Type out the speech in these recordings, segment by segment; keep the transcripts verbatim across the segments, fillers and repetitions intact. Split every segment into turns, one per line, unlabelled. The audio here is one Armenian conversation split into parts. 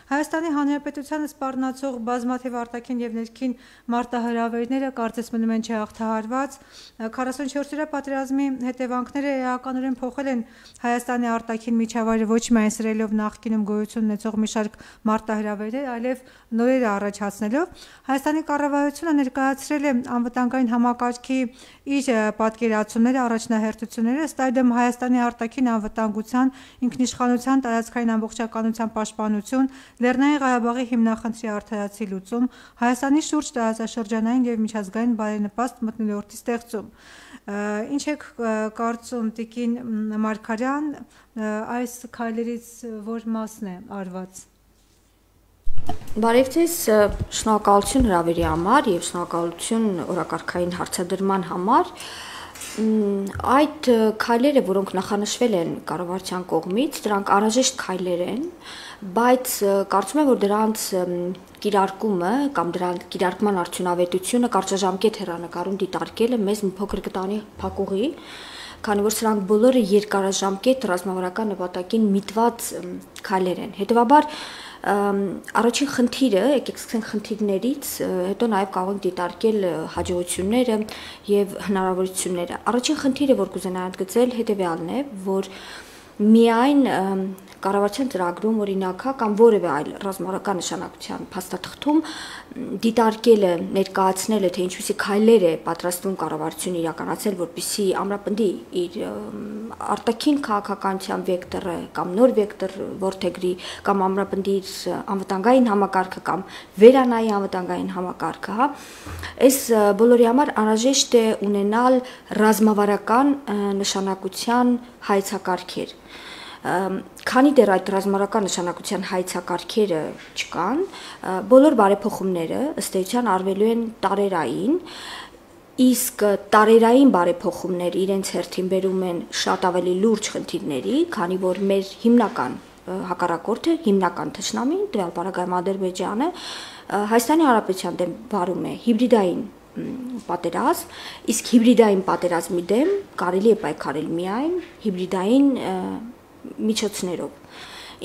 Հայաստանի Հանրապետությանը սպառնացող բազմաթիվ արտաքին եւ ներքին մարտահրավերները կարծես մնում են չհաղթահարված։ քառասունչորսերորդ պատերազմի հետևանքները էականորեն փոխել են Հայաստանի արտաքին միջավայրը ոչ միայն սրելով նախկինում գոյություն ունեցող մի շարք մարտահրավերներ, այլև նորերը առաջացնելով։ Հայաստանի կառավարությունը ներկայացրել է անվտանգային համակարգի իր պատկերացումները, առաջնահերթությունները, ըստ այդմ Հայաստանի արտաքին անվտանգության, ինքնիշխանության, տարածքային ամբողջականության պաշտպանություն, Լեռնային Ղարաբաղի հիմնախնդրի արդարացի լուծում, Հայաստանի շուրջ տարածաշրջանային եւ միջազգային բարենպաստ մթնոլորտի ստեղծում։ Ինչ եք կարծում, Տիկին Մարգարյան, այս քայլերից որ մասն է արված։
Բարև ձեզ, շնորհակալություն հրավերի համար եւ շնորհակալություն օրակարգային հարցադրման համար։ Այդ քայլերը, որոնք նախանշվել են կառավարության կողմից, դրանք անհրաժեշտ քայլեր են, բայց կարծում եմ, որ դրանց կիրարկումը կամ դրանց կիրարկման արդյունավետությունը կարճաժամկետ հեռանկարում դիտարկելը մեզ մի փոքր կտանի փակուղի, քանի որ սրանք բոլորը երկարաժամկետ ռազմավարական նպատակին միտված քայլեր են։ Հետևաբար առաջին խնդիրը, եկեք սկսենք խնդիրներից, հետո նաև կարող ենք դիտարկել հաջողությունները եւ հնարավորությունները։ Առաջին խնդիրը, որ կուզենայի ընդգծել, հետեւյալն է, որ միայն կառավարության ծրագրում օրինակա կամ որևէ այլ ռազմավարական նշանակության փաստաթղթում դիտարկելը, ներկայացնելը, թե ինչպիսի քայլեր է պատրաստվում կառավարությունը իրականացնել, որպեսզի ամրապնդի իր արտաքին քաղաքականության վեկտորը կամ նոր վեկտոր որդեգրի կամ ամրապնդի իր անվտանգային համակարգը կամ վերանայի անվտանգային համակարգը, հա, այս բոլորի համար անհրաժեշտ է ունենալ ռազմավարական նշանակության հայեցակարգեր։ Քանի դեռ այդ ռազմավարական նշանակության հայեցակարգերը չկան, բոլոր բարեփոխումները ըստ էության արվելու են տարերային, իսկ տարերային բարեփոխումները իրենց հերթին բերում են շատ ավելի լուրջ խնդիրների, քանի որ մեր հիմնական հակառակորդը, հիմնական թշնամին, տվյալ պարագայում Ադրբեջանը, Հայաստանի Հանրապետության դեմ վարում է հիբրիդային պատերազմ, իսկ հիբրիդային պատերազմի դեմ կարելի է պայքարել միայն հիբրիդային միջոցներով։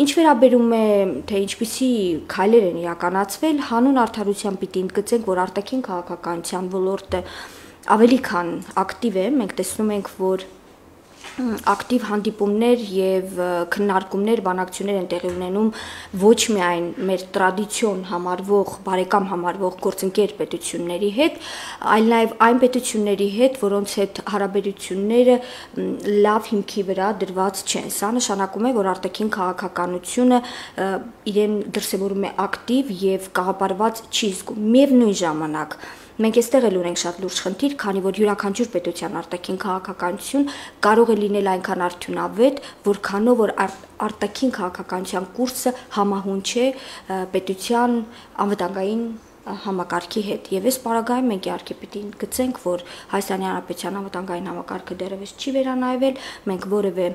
Ինչ վերաբերում է, թե ինչպիսի քայլեր են իրականացվել, հանուն արդարության պիտի ընդգծենք, որ արտաքին քաղաքականության ոլորտը ավելի քան ակտիվ է, մենք տեսնում ենք, որ ակտիվ հանդիպումներ եւ քննարկումներ, բանակցություններ են տեղի ունենում ոչ միայն մեր տրադիցիոն համարվող, բարեկամ համարվող գործընկեր պետությունների հետ, այլ նաեւ այն պետությունների հետ, որոնց հետ հարաբերությունները լավ հիմքի վրա դրված չեն։ Սա նշանակում է, որ արտաքին քաղաքականությունը իրեն դրսևորում է ակտիվ եւ կաղապարված չի զգում։ Միևնույն ժամանակ մենք այստեղ էլ ունենք շատ լուրջ խնդիր, քանի որ յուրաքանչյուր պետության արտաքին քաղաքականություն կարող է լինել այնքան արդյունավետ, որքանով որ արտաքին քաղաքականության կուրսը համահունչ է պետության անվտանգային համակարգի հետ։ Եվ այս պարագայում մենք իհարկե պիտի գծենք, որ Հայաստանի Հանրապետության անվտանգային համակարգը դեռևս չի վերանայվել, մենք որևէ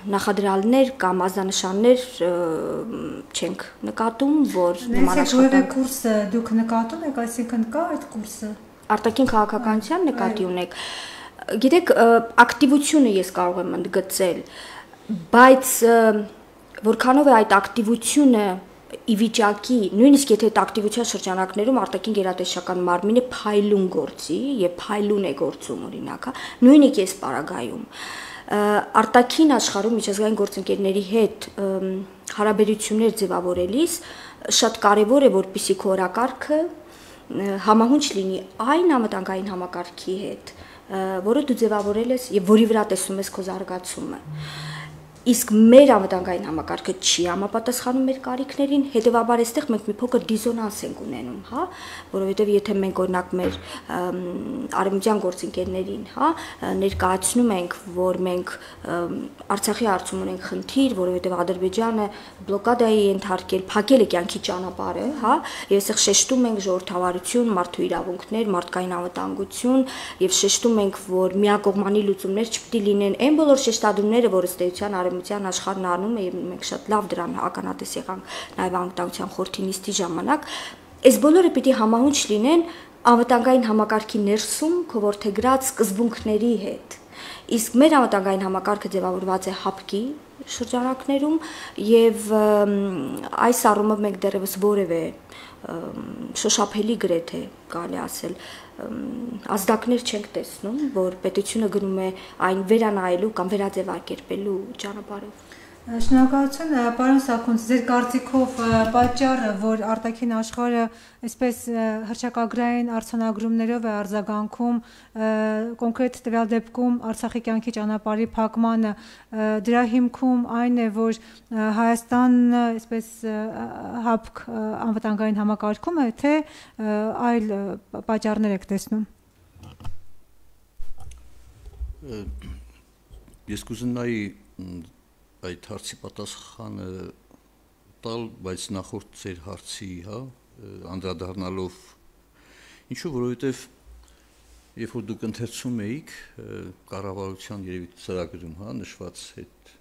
նախադրյալներ կամ ազդանշաններ չենք նկատում, որ
նման աշխատանք կուրսը դուք նկատում եք, այսինքն կա այդ կուրսը
արտաքին քաղաքականության նկատի ունեք։ Գիտեք, ակտիվությունը ես կարող եմ ընդգծել, բայց որքանով է այդ ակտիվությունը ի վիճակի, նույնիսկ եթե այդ ակտիվության շրջանակներում արտաքին գերատեսչական մարմինը փայլուն գործի եւ փայլուն է գործում օրինակ, նույնիսկ այս պարագայում արտաքին աշխարհում միջազգային գործընկերների հետ հարաբերություններ ձևավորելիս շատ կարևոր է, որպեսզի քո օրակարգը համահունչ լինի այն անվտանգային համակարգի հետ, որը դու ձևավորել ես եւ որի վրա տեսնում ես քո զարգացումը։ Իսկ մեր անվտանգային համակարգը չի համապատասխանում մեր կարիքներին, հետեւաբար այստեղ մենք մի փոքր դիզոնանս ենք ունենում, հա, որովհետեւ եթե մենք օրինակ մեր արևմտյան գործընկերներին, հա, ներկայացնում ենք, որ մենք Արցախի հարցում ունենք խնդիր, որովհետեւ Ադրբեջանը բլոկադայի է ենթարկել, փակել է կյանքի ճանապարհը, հա, եւ այստեղ շեշտում ենք ժողովրդավարություն, մարդու իրավունքներ, մարդկային անվտանգություն եւ շեշտում ենք, որ միակողմանի լուծումներ չպետք է լինեն այն բոլոր շեշտադրումները, որ ըստ էության արևմտյան աշխարհն անում է եւ մենք շատ լավ դրան ականատես եղանք նաեւ անվտանգության խորհրդի նիստի ժամանակ, այս բոլորը պիտի համահունչ լինեն անվտանգային համակարգի ներսում քողորթեգրած սկզբունքների հետ։ Իսկ մեր անվտանգային համակարգը ձևավորված է հապկի շրջանակներում եւ այս առումով մենք դեռևս որևէ շոշափելի գրեթե կարելի ասել ազդակներ չենք տեսնում, որ պետությունը գնում է այն վերանայելու կամ վերաձևակերպելու ճանապարհով։
Շնորհակալություն, պարոն Սաքունց, ձեր կարծիքով պատճառը, որ արտաքին աշխարհը այսպես հռչակագրային արձանագրումներով է արձագանքում կոնկրետ տվյալ դեպքում Արցախի կյանքի ճանապարհի փակմանը, դրա հիմքում այն է, որ Հայաստանը այսպես հապկ անվտանգային համակարգում է, թե այլ պատճառներ եք տեսնում։
Ես կուզենայի այդ հարցի պատասխանը տալ, բայց նախորդ ձեր հարցի, հա, անդրադառնալով, ինչու, որովհետև երբ որ դուք ընթերցում էիք կառավարության երևի ծրագրում, հա, նշված այդ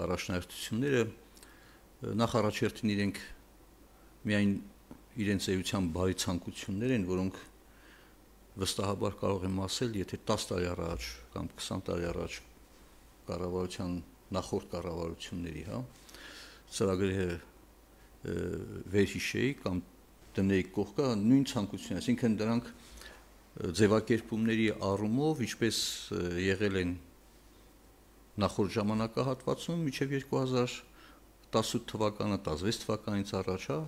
առաջնահերթությունները, նախ առաջերտին իրենք միայն իրենց էության բարի ցանկություններ են, որոնք վստահաբար կարող եմ ասել, եթե տասը տարի առաջ կամ քսան տարի առաջ կառավարության նախորդ կառավարությունների, հա, ծրագրերը վերհիշեի կամ դնեի կողքը նույն ցանկություն, այսինքն դրանք ձևակերպումների առումով ինչպես եղել են նախորդ ժամանակահատվածում մինչև երկու հազար տասութ թվականը, տասնվեց թվականից առաջ, հա,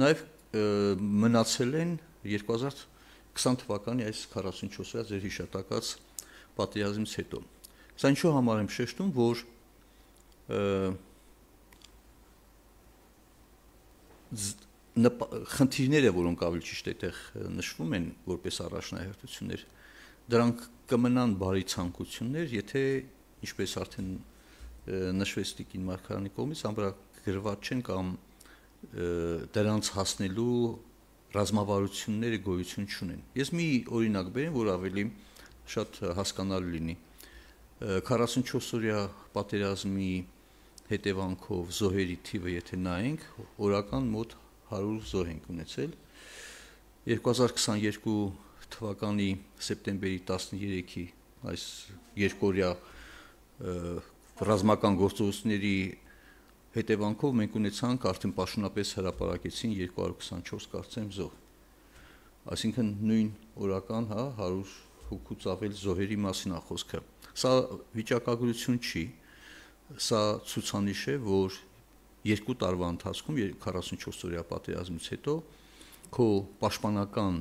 նաև մնացել են երկու հազար քսան թվականի այս քառասունչորսյա ձեր հիշատակած պատերազմից հետո։ Սա ինչու համար եմ շեշտում, որ խնդիրները, որոնք ավելի ճիշտ այդտեղ նշվում են որպես առաջնահերթություններ, դրանք կմնան բարի ցանկություններ, եթե ինչպես արդեն նշվեց Տիկին Մարգարյանի կողմից, ամրագրված չեն կամ դրանց հասնելու ռազմավարությունները գոյություն չունեն։ Ես մի օրինակ բերեմ, որ ավելի շատ հասկանալի լինի։ քառասունչորսօրյա պատերազմի հետևանքով զոհերի թիվը եթե նայենք, օրական մոտ հարյուր զոհ ենք ունեցել։ երկու հազար քսաներկու թվականի սեպտեմբերի տասներեքի այս երկօրյա ռազմական գործողությունների հետևանքով մենք ունեցանք արդեն պաշտոնապես հրապարակեցին երկու հարյուր քսանչորս կարծեմ զոհ։ Այսինքն նույն օրական, հա, հարյուր հոգուց ավել զոհերի մասին է խոսքը։ Սա վիճակագրություն չի, սա ցուցանիշ է, որ երկու տարվա ընթացքում քառասունչորսօրյա պատերազմից հետո քո պաշտպանական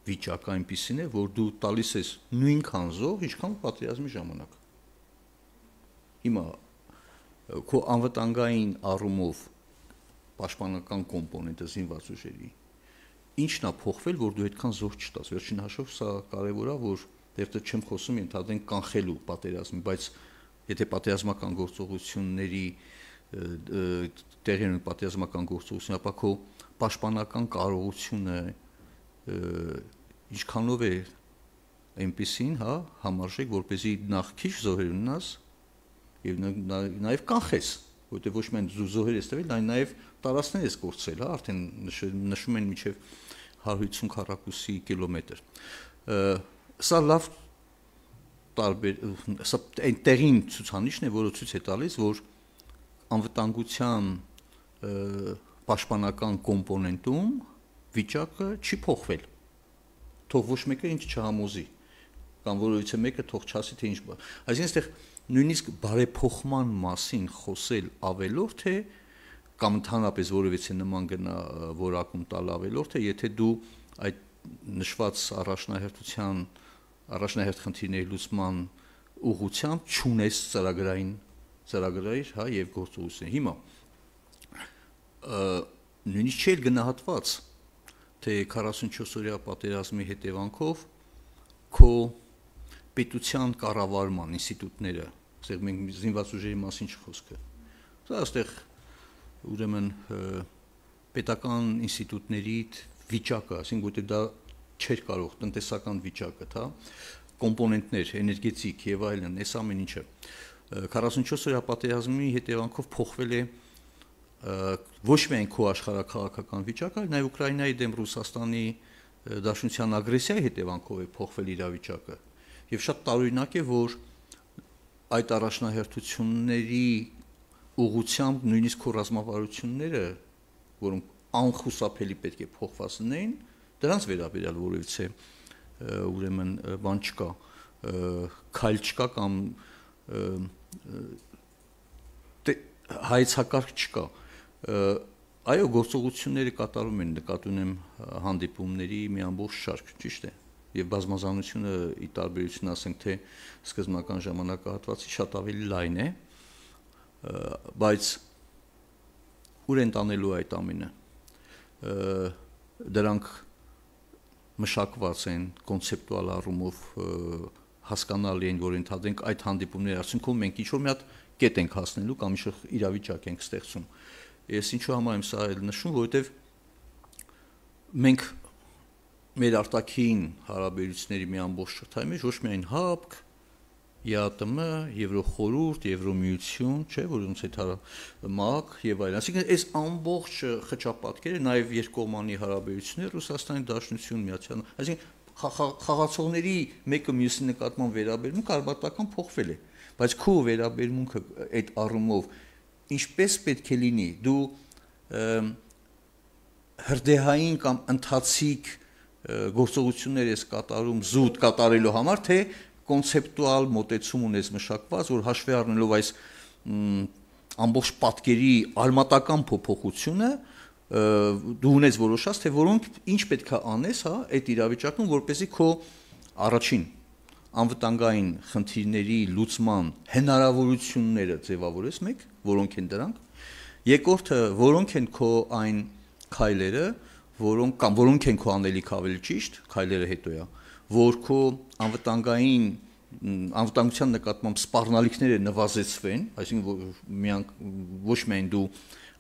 վիճակը այնպիսին է, որ դու տալիս ես նույնքան զոհ, ինչքան պատերազմի ժամանակ։ Հիմա քո անվտանգային առումով պաշտպանական կոմպոնենտը զինված ուժերի ինչն է փոխվել, որ դու այդքան զոհ չտաս։ Վերջին հաշվով սա կարևոր է, որ դեռ չեմ խոսում ընդհանրեն կանխելու պատերազմի, բայց եթե պատերազմական գործողությունների տեղի ունեն պատերազմական գործողություն, ապա քո պաշտպանական կարողությունը ինչքանով է այնպեսին, հա, համարժեք, որպեսզի նախ քիչ զոհեր ունենաս եւ նաեւ կանխես, որտեղ ոչ միայն զոհեր ես տվել, այլ նաեւ տարածքներ ես կորցրել, հա, արդեն նշում են մինչեւ հարյուր հիսուն քառակուսի կիլոմետր։ Սա լավ տարբեր, սա այն տեղին ցուցանիշն է, որը ցույց է տալիս, որ անվտանգության պաշտպանական կոմպոնենտում վիճակը չի փոխվել։ Թող ոչ մեկը ինչ չհամոզի, կամ որովհետեւ մեկը թող չասի, թե ինչ բա։ Այսինքն այստեղ նույնիսկ բարեփոխման մասին խոսել ավելորդ է, կամ ընդհանրապես որևիցե նման գնա որակում տալ ավելորդ է, եթե դու այդ նշված առաջնահերթության առաջնահերթ խնդիրների լուծման ուղղությամբ չունես ծրագրային ծրագրեր, հա, եւ գործողություններ։ Հիմա նույնիսկ չէ գնահատված, թե քառասունչորսօրյա պատերազմի հետևանքով քո պետության կառավարման ինստիտուտները, ասենք մենք զինված ուժերի մասին չխոսքը։ Սա այստեղ ուրեմն պետական ինստիտուտների վիճակը, ասենք որտեղ դա չէր կարող տնտեսական վիճակը, հա, կոմպոնենտներ, էներգետիկ եւ այլն, այս ամեն ինչը քառասունչորսօրյա պատերազմի հետևանքով փոխվել է ոչ միայն քո աշխարհաքաղաքական վիճակը, այլ նաեւ Ուկրաինայի դեմ Ռուսաստանի դաշնության ագրեսիայի հետևանքով է փոխվել իրավիճակը։ Եվ շատ տարօրինակ է, որ այդ առաջնահերթությունների ուղղությամբ նույնիսկ քո ռազմավարությունները, որոնք անխուսափելի պետք է փոխված լինեին, դրանց վերաբերյալ որևիցե ուրեմն բան չկա, քայլ չկա կամ հայեցակարգ չկա։ Այո, գործողությունները կատարում են, նկատի ունեմ հանդիպումների մի ամբողջ շարք, ճիշտ է, եւ բազմազանությունը ի տարբերություն ասենք թե սկզբնական ժամանակահատվածի շատ ավելի լայն է, բայց ուր են տանելու այդ ամենը։ Դրանք մշակված են կոնցեպտուալ առումով հասկանալի են, որ ընդհանրենք այդ հանդիպումների արդյունքում մենք ինչ-որ մի հատ կետ ենք հասնելու կամ ինչ-որ իրավիճակ ենք ստեղծում։ Ես ինչու համար եմ սա էլ նշում, որովհետև մենք մեր արտաքին հարաբերությունների մի ամբողջ շղթայի մեջ ոչ միայն ՀԱՊԿ, ԵԱՏՄ, Եվրոխորհուրդ, Եվրոմիություն, չէ, որոնց հետ ՄԱԿ եւ այլն, այսինքն այս ամբողջ խճապատկերը, նաեւ երկկողմանի հարաբերությունները Ռուսաստանի Դաշնություն, Միացյալ, այսինքն խաղացողների մեկը մյուսի նկատմամբ վերաբերմունքը արբատական փոխվել է, բայց քո վերաբերմունքը այդ առումով ինչպես պետք է լինի, դու հրդեհային կամ ընթացիկ գործողություններ ես կատարում զուտ կատարելու համար, թե կոնցեպտուալ մոտեցում ունես մշակված, որ հաշվի առնելով այս ամբողջ պատկերի արմատական փոփոխությունը, դու ունես որոշած, թե որոնք ինչ պետք է անես, հա, այդ իրավիճակում, որպեսզի քո առաջին անվտանգային խնդիրների լուծման հնարավորությունները ձևավորես մեկ, որոնք են դրանք, երկրորդը, որոնք են քո այն քայլերը, որոնք կամ որոնք են քո անելիք ավելի ճիշտ, քայլերը հետո է, որ քո անվտանգային անվտանգության նկատմամբ սպառնալիքները նվազեցվեն, այսինքն ոչ միայն դու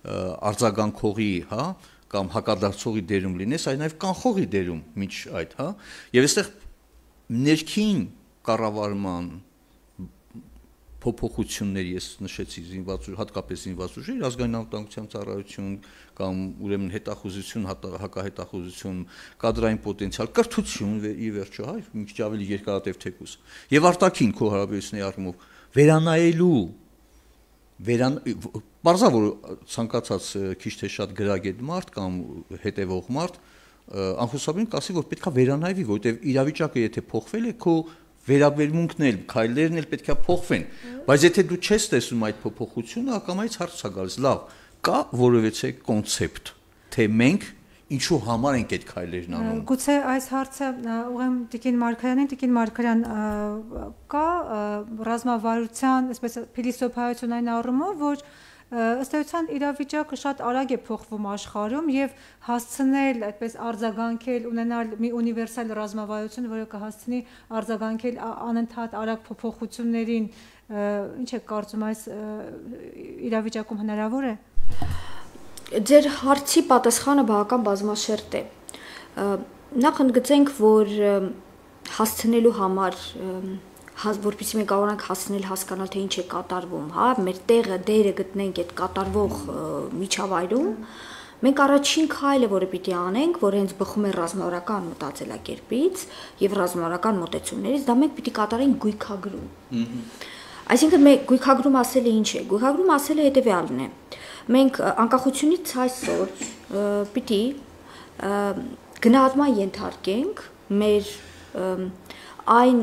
արձագանքողի, հա, կամ հակադարձողի դերում լինես, այլ նաև կանխողի դերում միջ այդ, հա, եւ այստեղ ներքին կառավարման փոփոխություններ ես նշեցի զինված ուժ, հատկապես զինված ուժերի ազգային անվտանգության ծառայություն կամ ուրեմն հետախուզություն, հակահետախուզություն, կադրային պոտենցիալ, կրթություն ի վերջո, հա, մի քիչ ավելի երկարատև թեկուզ։ Եվ արտաքին քո հարաբերությունների առումով վերանայելու վերան բարձա որ ցանկացած քիչ թե շատ գրագետ մարդ կամ հետևող մարդ անխուսափելի կասի, որ պետքա վերանայվի, որովհետև իրավիճակը եթե փոխվել է, քո վերաբերմունքն էլ, քայլերն էլ պետքա փոխվեն, բայց եթե դու չես տեսնում այդ փոփոխությունը, ակամայից հարց է գալիս, լավ, կա որևիցե կոնցեպտ, թե մենք ինչու համար ենք այդ քայլերն անում։
Գուցե այս հարցը ուղղեմ Տիկին Մարգարյանին, Տիկին Մարգարյան, կա ռազմավարության, այսպես փիլիսոփայություն այն առումով, որ ըստ էության իրավիճակը շատ արագ է փոխվում աշխարհում եւ հասցնել այդպես արձագանքել, ունենալ մի ունիվերսալ ռազմավարություն, որը կհասցնի արձագանքել անընդհատ արագ փոփոխություններին, ինչ է կարծում, այս իրավիճակում հնարավոր է։
Ձեր հարցի պատասխանը բավական բազմաշերտ է։ Նախ ընդգծենք, որ հասցնելու համար որպեսզի մենք կարողանանք հասնել հասկանալ, թե ինչ է կատարվում, հա, մեր տեղը, դերը գտնենք այդ կատարվող միջավայրում, մենք առաջին քայլը, որը պիտի անենք, որ հենց բխում է ռազմավարական մտածելակերպից եւ ռազմավարական մոտեցումներից, դա մենք պիտի կատարենք գույքագրում։ Այսինքն մենք գույքագրում ասելը ինչ է։ Գույքագրում ասելը հետեւյալն է։ Մենք անկախությունից այսօր պիտի գնահատման ենթարկենք մեր այն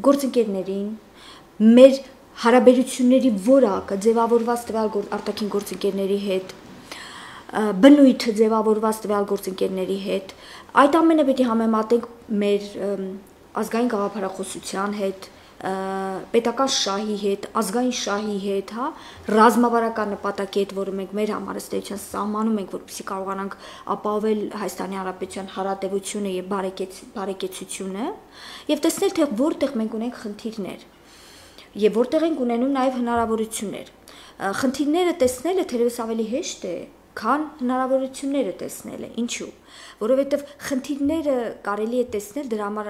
գործընկերներին, մեր հարաբերությունների որակը ձևավորված տվյալ արտաքին գործընկերների հետ, բնույթը ձևավորված տվյալ գործընկերների հետ, այդ ամենը պետք է համեմատենք մեր ազգային գաղափարախոսության հետ, պետական շահի հետ, ազգային շահի հետ, հա, ռազմավարական նպատակի հետ, որը մենք մեր համար ըստ էության սահմանում ենք, որպեսզի կարողանանք ապահովել Հայաստանի Հանրապետության հարատևությունը եւ բարեկեցությունը, եւ տեսնել, թե որտեղ մենք ունենք խնդիրներ եւ որտեղ ենք ունենում նաեւ հնարավորություններ։ Խնդիրները տեսնելը թերևս ավելի հեշտ է, քան հնարավորությունները տեսնելը։ Ինչու՞։ Որովհետև խնդիրները կարելի է տեսնել, դրա համար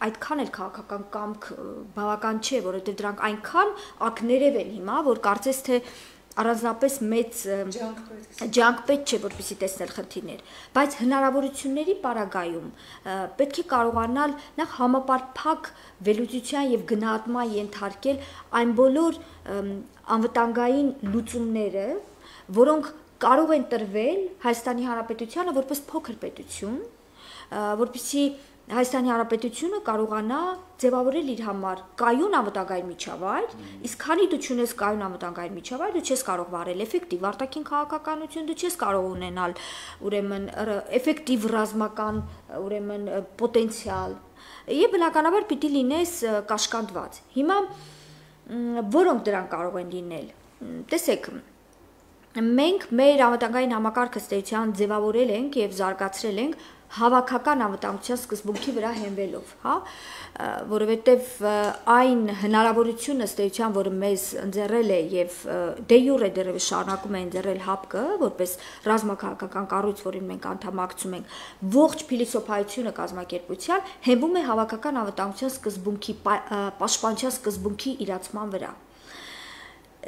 այդքան էլ քաղաքական կամք բավական չէ, որովհետև դրանք այնքան ակներև են հիմա, որ կարծես թե առանձնապես մեծ ջանք պետք չէ, որպեսզի տեսնել խնդիրներ, բայց հնարավորությունների պարագայում պետք է կարողանալ նախ համապարփակ վերլուծության եւ գնահատման ենթարկել այն բոլոր անվտանգային լուծումները, որոնք կարող են տրվել Հայաստանի Հանրապետությանը որպես փոքր պետություն, որպեսզի Հայաստանի Հանրապետությունը կարողանա ձևավորել իր համար կայուն անվտանգային միջավայր, իսկ քանի դու չունես կայուն անվտանգային միջավայր, դու չես կարող վարել էֆեկտիվ արտաքին քաղաքականություն, դու չես կարող ունենալ ուրեմն էֆեկտիվ ռազմական, ուրեմն պոտենցիալ, եւ բնականաբար պիտի լինես կաշկանդված։ Հիմա որոնք դրան կարող են լինել։ Տեսեք, մենք մեր անվտանգային համակարգը ստեյության ձևավորել ենք եւ զարգացրել ենք հավաքական անվտանգության սկզբունքի վրա հենվելով, հա, որովհետև այն հնարավորությունը ստեյության, որը մեզ ընձեռել է եւ դե յուրե դեռևս շարունակում է ընձեռել ՀԱՊԿ-ը, որպես ռազմաքաղաքական կառույց, որին մենք անդամակցում ենք, ողջ փիլիսոփայությունը կազմակերպության հենվում է հավաքական անվտանգության սկզբունքի, պաշտպանության սկզբունքի իրացման վրա։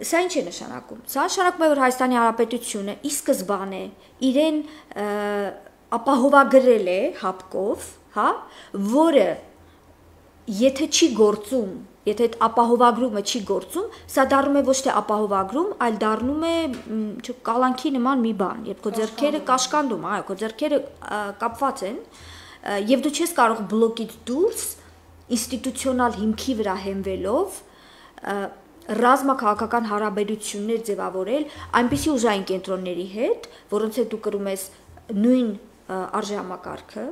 Սա ինչ է նշանակում։ Սա նշանակում է, որ Հայաստանի Հանրապետությունը ի սկզբանե իրեն ապահովագրել է ՀԱՊԿ-ով, հա, որը եթե չի գործում, եթե այդ ապահովագրումը չի գործում, սա դառնում է ոչ թե ապահովագրում, այլ դառնում է կալանքի նման մի բան, երբ քո ձեռքերը կաշկանդում, այո, քո ձեռքերը կապված են, եւ դու չես կարող բլոկից դուրս ինստիտուցիոնալ հիմքի վրա հենվելով ռազմաքաղաքական հարաբերություններ ձևավորել այնպիսի ուժային կենտրոնների հետ, որոնց հետ դու կրում ես նույն արժեհամակարգը,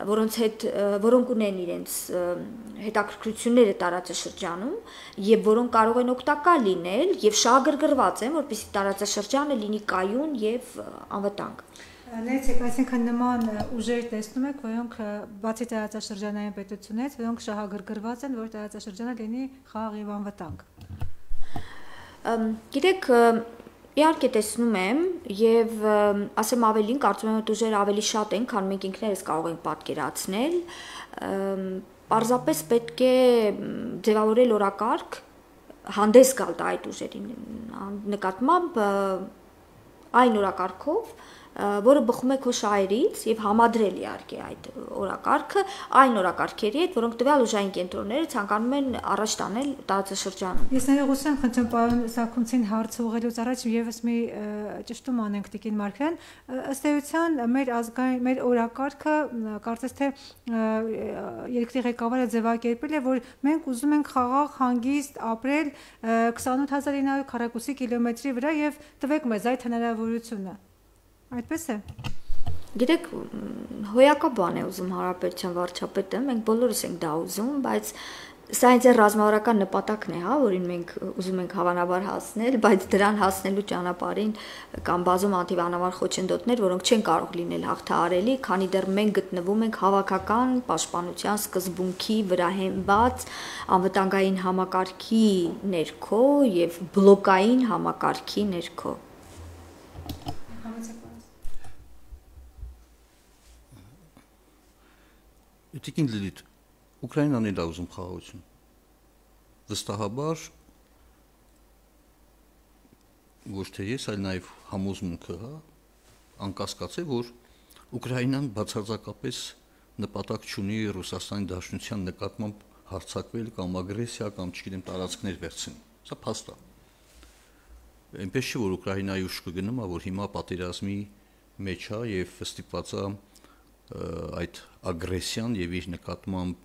որոնց հետ որոնք ունեն իրենց հետաքրքրությունները տարածաշրջանում եւ որոնք կարող են օգտակար լինել եւ շահագրգռված են, որպեսզի տարածաշրջանը լինի կայուն եւ անվտանգ։
Ներեցեք, այսինքն նման ուժեր տեսնում եք, որոնք բացի տարածաշրջանային պետությունից, որոնք շահագրգռված են, որ տարածաշրջանը լինի խաղաղ եւ անվտանգ։
Գիտեք, իհարկե տեսնում եմ եւ ասեմ ավելին, կարծում եմ, որ ուժերը ավելի շատ են, քան մենք ինքներս կարող ենք պատկերացնել։ Պարզապես պետք է ձևավորել օրակարգ, հանդես գալ այդ ուժերի նկատմամբ այն օրակարգով, որը բխում է քո շահերից եւ համադրել իհարկե այդ օրակարգը այն օրակարգերի հետ, որոնք տվյալ ուժային կենտրոնները ցանկանում են առաջ տանել տարածաշրջանում։
Ես ներողություն եմ խնդրում պարոն Սաքունցին հարց ուղղելուց առաջ եւս մի ճշտում անենք Տիկին Մարգարյան, ըստ էության մեր ազգային մեր օրակարգը կարծես թե երկրի ղեկավարը ձևակերպել է, որ մենք ուզում ենք խաղաղ հանգիստ ապրել քսանութ հազար ինը հարյուր քառակուսի կիլոմետրի վրա եւ տվեք մեզ այդ հնարավորությունը։ Այդպես է։
Գիտեք, հոյակա բան է ուզում Հանրապետության վարչապետը, մենք բոլորս ենք դա ուզում, բայց սա ինձ ռազմավարական նպատակն է, հա, որին մենք ուզում ենք հավանաբար հասնել, բայց դրան հասնելու ճանապարհին կան բազում անտիվանավար խոչընդոտներ, որոնք չեն կարող լինել հաղթահարելի, քանի դեռ մենք գտնվում ենք հավաքական պաշտպանության սկզբունքի վրա հենված անվտանգային համակարգի ներքո եւ բլոկային համակարգի ներքո։
Տիկին Լիլիթ, Ուկրաինան էլ է ուզում խաղաղություն։ Վստահաբար ոչ թե ես, այլ նաև համոզմունքը, հա, անկասկած է, որ Ուկրաինան բացարձակապես նպատակ չունի Ռուսաստանի Դաշնության նկատմամբ հարձակվել կամ ագրեսիա կամ չգիտեմ տարածքներ վերցնել։ Սա փաստ է։ Այնպես չի, որ Ուկրաինայի ուժը գնում է, որ հիմա պատերազմի մեջ է եւ ստիպված է այդ ագրեսիան եւ իր նկատմամբ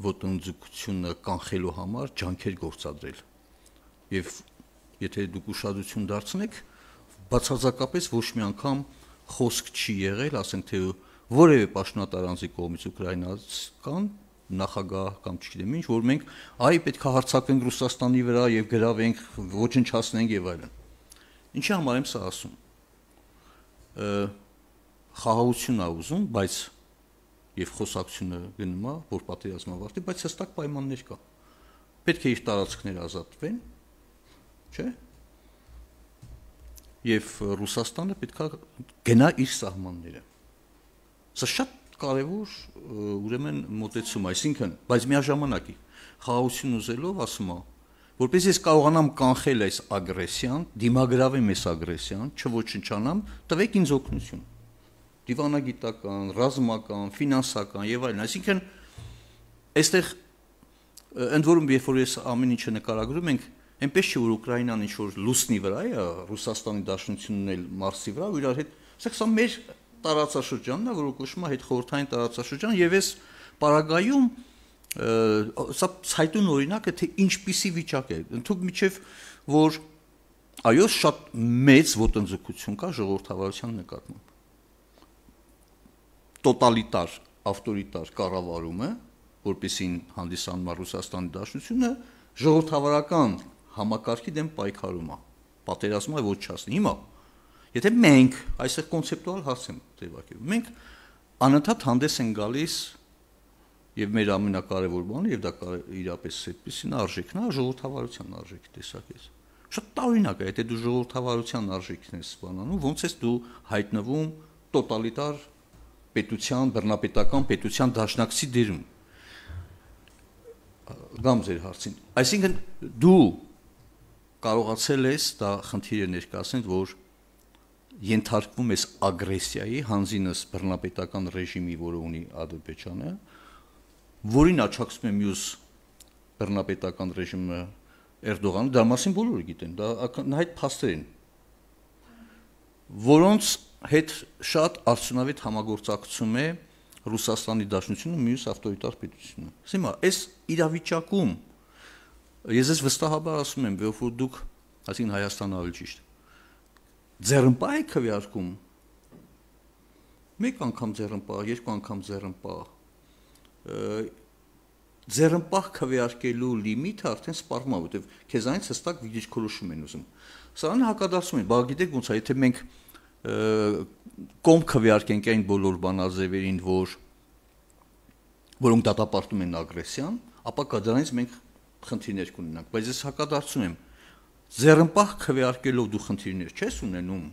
ոտնձգությունը կանխելու համար ջանքեր գործադրել։ Եվ եթե դուք ուշադրություն դարձնեք, բացարձակապես ոչ մի անգամ խոսք չի եղել, ասենք թե որևէ պաշտոնատար անձի կողմից ուկրաինացական նախագահ կամ չգիտեմ ինչ, որ մենք այ պետք է հարձակվենք Ռուսաստանի վրա եւ գրավենք, ոչնչացնենք եւ այլն։ Ինչի համար եմ սա ասում։ Խաղաղություն է ուզում, բայց եւ խոսակցությունը գնում է, որ պատերազմը ավարտի, բայց հստակ պայմաններ կա։ Պետք է իր տարածքները ազատվեն, չէ՞։ Եվ Ռուսաստանը պետք է գնա իր սահմանները։ Սա շատ կարևոր ուրեմն մոտեցում, այսինքն, բայց միաժամանակ խաղաղություն ուզելով ասում է, որպես ես կարողանամ կանխել այս ագրեսիան, դիմագրավեմ այս ագրեսիան, չոչնչանամ, տվեք ինձ օգնություն։ Դիվանագիտական, ռազմական, ֆինանսական եւ այլն, այսինքն այստեղ ընդ որում երբ որ ես ամեն ինչը նկարագրում ենք, այնպես չէ որ Ուկրաինան ինչ որ լուսնի վրա է, Ռուսաստանի Դաշնությունն էլ Մարսի վրա, ու իրար հետ, սա մեր տարածաշրջանն է, որ կոչվում է հետխորհրդային տարածաշրջան, եւ այս պարագայում սա ցայտուն օրինակ է, թե ինչպիսի վիճակ է, ընդհանուր միջև որ այո շատ մեծ ոտնձգություն կա ժողովրդավարության նկատմամբ, տոտալիտար, ավտորիտար կառավարումը, որպեսին հանդիսանում է Ռուսաստանի Դաշնությունը, ժողովրդավարական համակարգի դեմ պայքարում է, պատերազմում է ոչնչացնի։ Հիմա, եթե մենք այսօր կոնցեպտուալ հարց եմ ձևակերպում, մենք անընդհատ հանդես են գալիս եւ մեր ամենակարևոր բանը, եւ դա իրապես այդպեսին արժեքն է, ժողովրդավարության արժեքի տեսակից։ Շատ տարօրինակ է, եթե դու ժողովրդավարության արժեքն ես բանանում, ոնց ես դու հայտնվում տոտալիտար պետության, բռնապետական պետության դաշնակցի դերում։ Գամ ձեր հարցին։ Այսինքն դու կարողացել ես դա խնդիրը ներկայացնել, որ ենթարկվում ես ագրեսիայի, հանձինս բռնապետական ռեժիմի, որը ունի Ադրբեջանը, որին աջակցում է մյուս բռնապետական ռեժիմը Էրդողանը, դա մասին բոլորը գիտեն, դա այդ փաստեր են, որոնց հետ շատ արդյունավետ համագործակցում է Ռուսաստանի Դաշնությունը մյուս ավտորիտար պետությունը։ Հիմա այս իրավիճակում ես ես վստահաբար ասում եմ, որ դուք, այսինքն Հայաստանը ավելի ճիշտ, ձեռնպահ եք քվեարկում, մեկ անգամ ձեռնպահ, երկու անգամ ձեռնպահ, ձեռնպահ քվեարկելու լիմիտը արդեն սպառվում է, որտեղ քեզանից հստակ դիրքորոշում են ուզում։ Սրան հակադարձում են, բա գիտեք ոնց է, եթե մենք կողմ քվեարկենք այն բոլոր բանաձևերին, որ որոնք դատապարտում են ագրեսիան, ապա կդրանից մենք խնդիրներ կունենանք, բայց ես հակադարձում եմ, ձեռնպահ քվեարկելով դու խնդիրներ չես ունենում,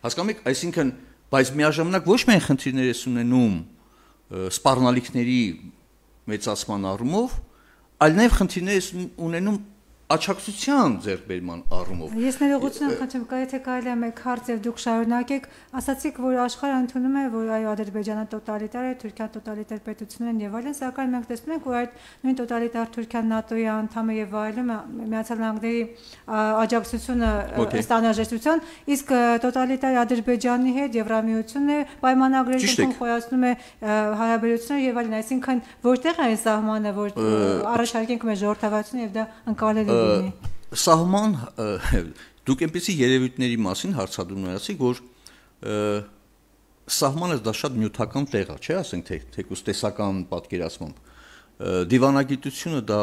հասկանում եք, այսինքն, բայց միաժամանակ ոչ միայն խնդիրներ ես ունենում սպառնալիքների մեծացման առումով, այլ նաև խնդիրներ ես ունենում աջակցության ձեռքբերման առումով։
Ես ներողություն խնդրեմ, եթե կարելի է մեկ հարց եւ դուք շարունակեք, ասացիք, որ աշխարհը ընդունում է, որ այո Ադրբեջանը տոտալիտար է, Թուրքիան տոտալիտար պետություն են եւ այլն, սակայն մենք տեսնում ենք, որ այդ նույն տոտալիտար Թուրքիան ՆԱՏՕ-ի անդամ է եւ այլն, Միացյալ Նահանգների աջակցությունը ըստ անհրաժեշտության, իսկ տոտալիտար Ադրբեջանի հետ Եվրամիությունն է պայմանագրերում խոյացնում է հարաբերությունները եւ այլն, այսինքն որտեղ է այն սահմանը, որ առաջարկենք մեր ժողովրդավարությունը եւ դա ընկալելի
Սահման դուք այնպեսի երևույթների մասին հարցադրում ունեցիք, որ սահմանը դա շատ նյութական տեղ է, չէ՞, ասենք թե թեկուզ տեսական պատկերացմամբ։ Դիվանագիտությունը դա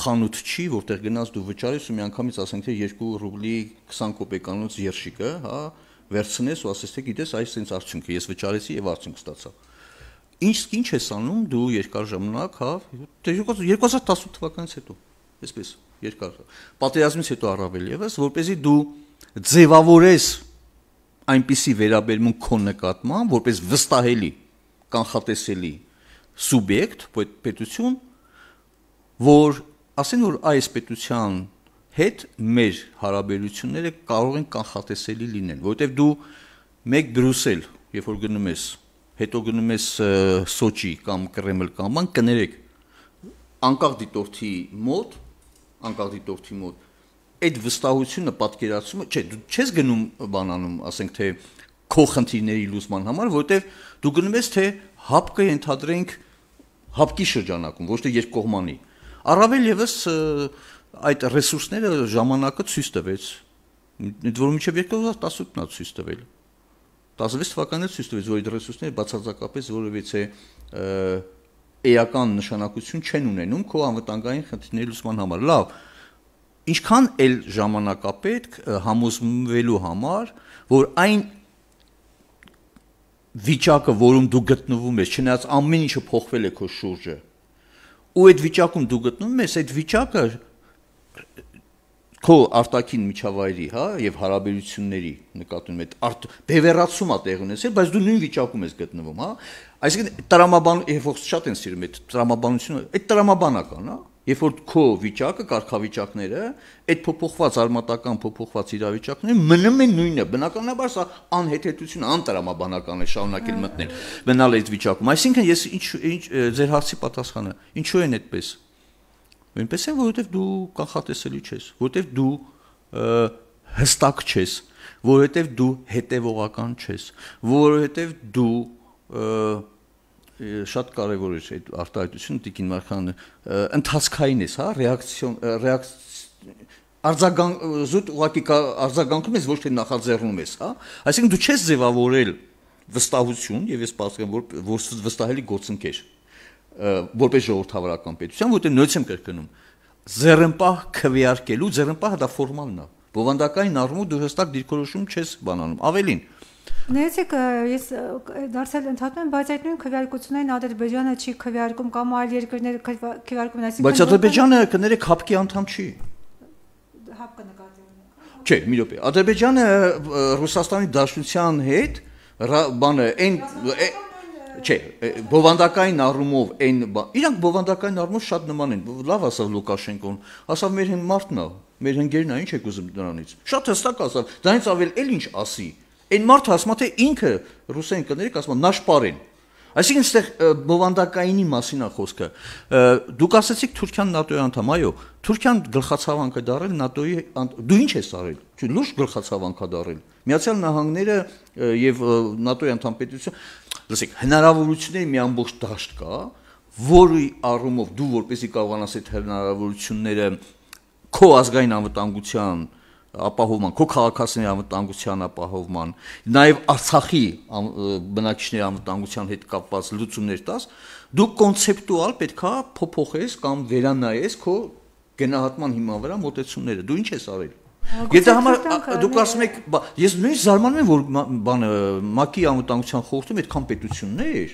խանութ չի, որտեղ գնաց դու վճարես ու միանգամից ասենք թե երկու ռուբլի քսան կոպեկանոց երշիկը, հա, վերցնես ու ասես թե գիտես, այս sense արդյունքը ես վճարեցի եւ արդյունք ստացա։ Ինչ ինչ ես անում դու երկար ժամանակ, հա, երկու հազար տասութ թվականից հետո Այսպես երկար պատերազմից հետո առավել եւս, որպեսզի դու ձևավորես այնպիսի վերաբերմունք քո նկատմամբ, որպես վստահելի, կանխատեսելի սուբյեկտ, պետություն, որ ասեն որ այս պետության հետ մեր հարաբերությունները կարող են կանխատեսելի լինեն, որովհետեւ դու մեկ Բրյուսել, երբ որ գնում ես, հետո գնում ես Սոչի կամ Կրեմլ կամ բան կներեք անկախ դիտորդի մոտ անկախ դիտորդի մոտ այդ վստահությունը պատկերացումը, չէ, դու չես գնում բանանում, ասենք թե քո խնդիրների լուծման համար, որովհետև դու գնում ես թե հապկը ենթադրենք հապկի շրջանակում, ոչ թե երկկողմանի։ Առավել եւս այդ ռեսուրսները ժամանակը ցույց տվեց, ընդ որում մինչև երկու հազար տասութն է ցույց տվել։ տասնվեց թվականից ցույց տվեց, որ այդ ռեսուրսները բացարձակապես որևիցե էական նշանակություն չեն ունենում քո անվտանգային խնդիրների լուծման համար։ Լավ, ինչքան էլ ժամանակապետք համոզվելու համար, որ այն վիճակը, որում դու գտնվում ես, չնայած ամեն ինչը փոխվել է քո շուրջը, ու այդ վիճակում դու գտնվում ես, այդ վիճակը քո արտաքին միջավայրի, հա, եւ հարաբերությունների նկատմամբ այդ բևեռացում է տեղ ունեցել, բայց դու նույն վիճակում ես գտնվում, հա։ Այսինքն տրամաբան, երբ որ շատ են սիրում այդ տրամաբանությունը, այդ տրամաբանական, հա։ Երբ որ քո վիճակը, կարգավիճակները, այդ փոփոխված արմատական փոփոխված իրավիճակները մնում են նույնը։ Բնականաբար սա անհեթեթություն, անտրամաբանական է շարունակել մտնել, մնալ այդ վիճակում։ Այսինքն ես ինչ ինչ ձեր հարցի պատասխանը, ինչու են այդպես։ Այնպես է, որովհետև դու կանխատեսելի չես, որովհետև դու հստակ չես, որովհետև դու հետևողական չես, որովհետև դու շատ կարևոր է այդ արտահայտությունը Տիկին Մարգարյանը ընթացքային ես, հա, ռեակցիոն արձագանք զուտ ուղղակի արձագանքում ես, ոչ թե նախաձեռնում ես, հա, այսինքն դու չես ձևավորել վստահություն եւ ես պատկերում որ վստահելի գործընկեր որպես ժողովրդավարական պետության, որտեղ նույնպես եմ կրկնում ձեռնպահ քվեարկելու, ձեռնպահը դա ֆորմալն է, բովանդակային առումով դու հստակ դիրքորոշում չես բանանում, ավելին
Ներեցեք, ես դարձել ընդհատում եմ, բայց այդ նույն քվեարկություններին Ադրբեջանը չի քվեարկում կամ այլ երկրները քվեարկում, այսինքն
Բայց Ադրբեջանը կներեք հապկի անդամ չի։
Հապկը նկատի ունի։
Չէ, մի րոպե։ Ադրբեջանը Ռուսաստանի Դաշնության հետ բանը այն չէ, բովանդակային առումով այն իրանք բովանդակային առումով շատ նման են։ Լավ ասավ Լուկաշենկոն, ասավ մեր մարդն է, մեր ընկերն է, ինչ եք ուզում դրանից։ Շատ հստակ ասավ, դրանից ավել էլ ինչ ասի։ Այն մարդը ասում է թե ինքը ռուսերեն կներեք ասում է նաշպարեն։ Այսինքն այստեղ բովանդակայինի մասին է խոսքը։ Դուք ասացիք Թուրքիան ՆԱՏՕ-ի անդամ, այո, Թուրքիան գլխացավանք է դարել ՆԱՏՕ-ի, դու ինչ ես արել։ Չէ, լուրջ գլխացավանք է դարել։ Միացյալ Նահանգները եւ ՆԱՏՕ-ի անդամ պետություն, լսեք, հնարավորությունների մի ամբողջ դաշտ կա, որի առումով դու որպեսզի կարողանաս այդ հնարավորությունները քո ազգային անվտանգության ապահովման, քո քաղաքացիների անվտանգության ապահովման, նաև Արցախի բնակիչների անվտանգության հետ կապված լուծումներ տաս, դու կոնցեպտուալ պետքա փոփոխես կամ վերանայես քո գնահատման հիման վրա մոտեցումները։ Դու ինչ ես արել։ Եթե համար դուք ասում եք, ես նույնիսկ զարմանում եմ, որ բանը ՄԱԿ-ի անվտանգության խորհրդում այդքան պետություններ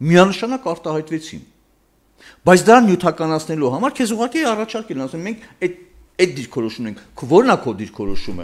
միանշանակ արտահայտվեցին։ Բայց դա նյութականացնելու համար քեզ ուղղակի առաջարկել են, ասում մենք այդ այդ դիրքորոշումն ենք, որն է քո դիրքորոշումը։